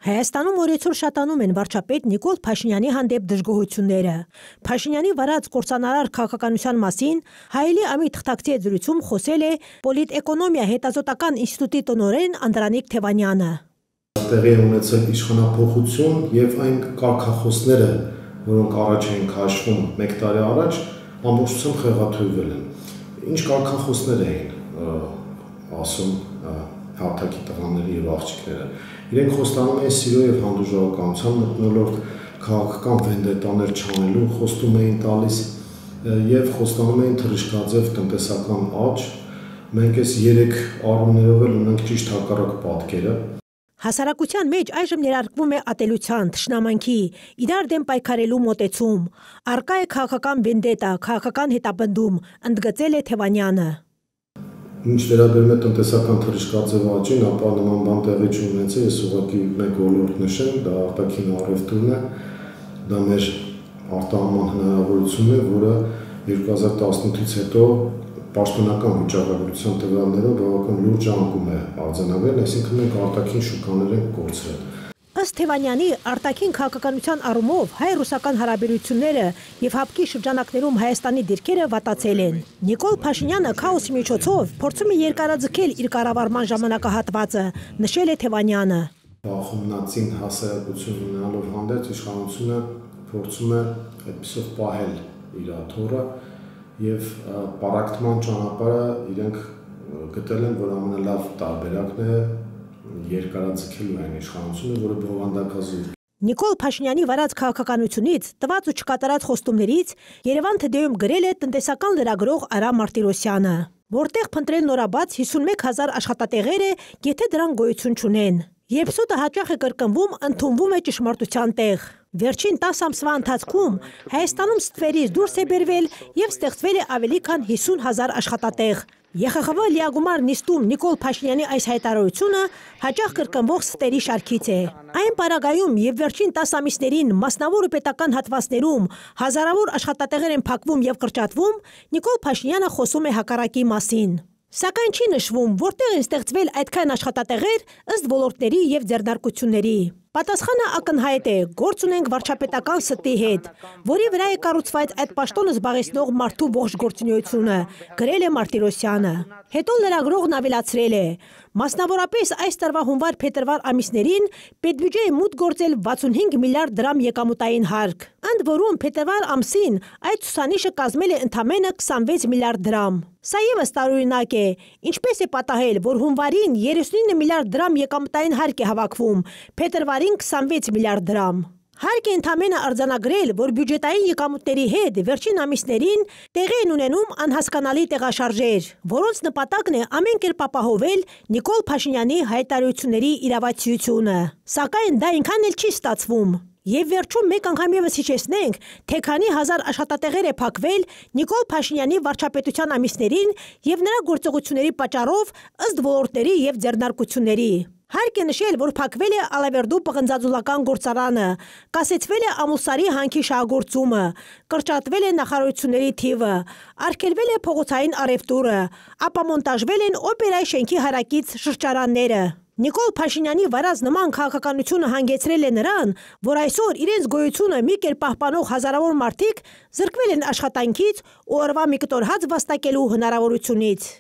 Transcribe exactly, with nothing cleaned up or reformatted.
Հայաստանում օրեցօր շատանում են վարչապետ Նիկոլ Փաշինյանի հանդեպ դժգոհությունները։ Փաշինյանի վարած կործանարար քաղաքականության մասին Հայելի ամի թղթակցի զրույցում խոսել է Պոլիտէկոնոմիա հետազոտական ինստիտուտի տնօրեն Անդրանիկ Թևանյանը։ Տեղի է ունեցել իշխանափոխություն եւ այն կարգախոսները, որոնք առաջ էին քաշվում մեկ տարի առաջ, ամբողջությամբ խեղաթյուրվել են։ Ինչ կարգախոսներ էին ասում հարթակի տղաները եւ աղջիկները։ Իրենք խոստանում էին սիրո եւ հանդուրժողականության մթնոլորտ, քաղաքական վենդետաներ չանելու, խոստում էին տալիս եւ խոստանում էին թռիչքաձև տնտեսական աճ։ Մենք այս երեք առումներով էլ ունենք ճիշտ հակառակ պատկերը։ Հասարակության մեջ այժմ ներարկվում է ատելության, թշնամանքի, իրար դեմ պայքարելու մոտեցում, առկա է քաղաքական վենդետա, քաղաքական հետապնդում, ընդգծել է Թևանյանը։ Ինչ վերաբերում է տնտեսական թռիչքաձև աճին, ապա նման բան տեղի չունեցել, ես ուղղակի մեկ ոլորտ նշեմ, դա արտաքին առևտուրն է, դա մեր արտահանման հնարավորությունն է, որը երկու հազար տասնութից հետո պաշտոնական վիճակագրության տվյալներով բավական լուրջ անկում է արձանագրել, այսինքն մենք արտաքին շուկաներ ենք կորցրել։ Ըստ Թևանյանի, արտաքին քաղաքականության առումով հայ-ռուսական հարաբերությունները եւ հապկի շրջանակներում Հայաստանի դիրքերը վատացել են։ Նիկոլ Փաշինյանը քաոսի միջոցով փորձում է երկարաձգել իր կառավարման ժամանակահատվածը, նշել է Թևանյանը։ Բախումնացին հասարակություն ունենալով հանդերձ իշխանությունը փորձում է այդպիսով պահել իր աթոռը եւ պարակտման ճանապարհը իրենք գտել են, որ ամենալավ տարբերակն է երկարաձգելու այն իշխանությունը, որը բովանդակազուրկ։ Նիկոլ Փաշինյանի վարած քաղաքականությունից, տված ու չկատարած խոստումներից Երևան Թեդեում գրել է տնտեսական լրագրող Արա Մարտիրոսյանը, որտեղ փնտրել նորաբաց հիսունմեկ հազար աշխատատեղեր է, եթե դրանք գոյություն չունեն։ Երբ սուտը հաճախ է կրկնվում, ընդունվում է ճշմարտության տեղ։ Վերջին տասը ամսվա ընթացքում Հայաստանում ստվերից դուրս է բերվել եւ ստեղծվել է ավելի քան հիսուն հազար աշխատատեղ։ Ե Խ Խ V լիագումար նիստում Նիկոլ Փաշինյանի այս հայտարարությունը հաճախ կրկնվող ստերի շարքից է։ Այն պարագայում եւ վերջին տասը ամիսներին մասնավոր ու պետական հատվածներում հազարավոր աշխատատեղեր են փակվում եւ կրճատվում, Նիկոլ Փաշինյանը խոսում է հակառակի մասին։ Սակայն չի նշվում, որտեղ են ստեղծվել այդքան աշխատատեղեր ըստ ոլորտների եւ ձեռնարկությունների։ Պատասխանը ակնհայտ է, գործ ունենք վարչապետական ստի հետ, որի վրա է կառուցված այդ պաշտոնը զբաղեցնող մարդու ողջ գործունեությունը, գրել է Մարտիրոսյանը։ Հետո լրագրողն ավելացրել է. մասնավորապես այս տարվա հունվար-փետրվար ամիսներին պետբյուջեի մուտք գործել վաթսունհինգ միլիարդ դրամ եկամուտային հարկ, ընդ որում փետրվար ամսին այդ ցուցանիշը կազմել է ընդամենը քսանվեց միլիարդ դրամ։ Սա ևս տարօրինակ է, ինչպես է պատահել, որ հունվարին երեսունինը միլիարդ դրամ եկամուտային հարկ է հավաքվում, փետրվարին քսանվեց միլիարդ դրամ։ Հարկ է ընդամենը արձանագրել, որ բյուջետային եկամուտների հետ վերջին ամիսներին տեղի են ունենում անհասկանալի տեղաշարժեր, որոնց նպատակն է ամեն կերպ ապահովել Նիկոլ Փաշինյանի հայտարարությունների իրավացիությունը։ Սակայն դա այնքան էլ չի ստացվում։ Եվ վերջում մեկ անգամ ևս հիշեցնենք, թե քանի հազար աշխատատեղեր է փակվել Նիկոլ Փաշինյանի վարչապետության ամիսներին եւ նրա գործողությունների պատճառով ըստ ոլորտների եւ ձեռնարկությունների։ Հարկ է նշել, որ փակվել է Ալավերդու պղնձաձուլական գործարանը, կասեցվել է Ամուսարի հանքի շահագործումը, կրճատվել է նախարարությունների թիվը, արգելվել է փողոցային առևտուրը, ապամոնտաժվել են օպերայի շենքի հարակից շրջարանները։ Նիկոլ Փաշինյանի վարած նման քաղաքականությունը հանգեցրել է նրան, որ այսօր իրենց գոյությունը մի կերպ պահպանող հազարավոր մարդիկ զրկվել են աշխատանքից ու օրվա մի կտոր հաց վաստակելու հնարավորությունից։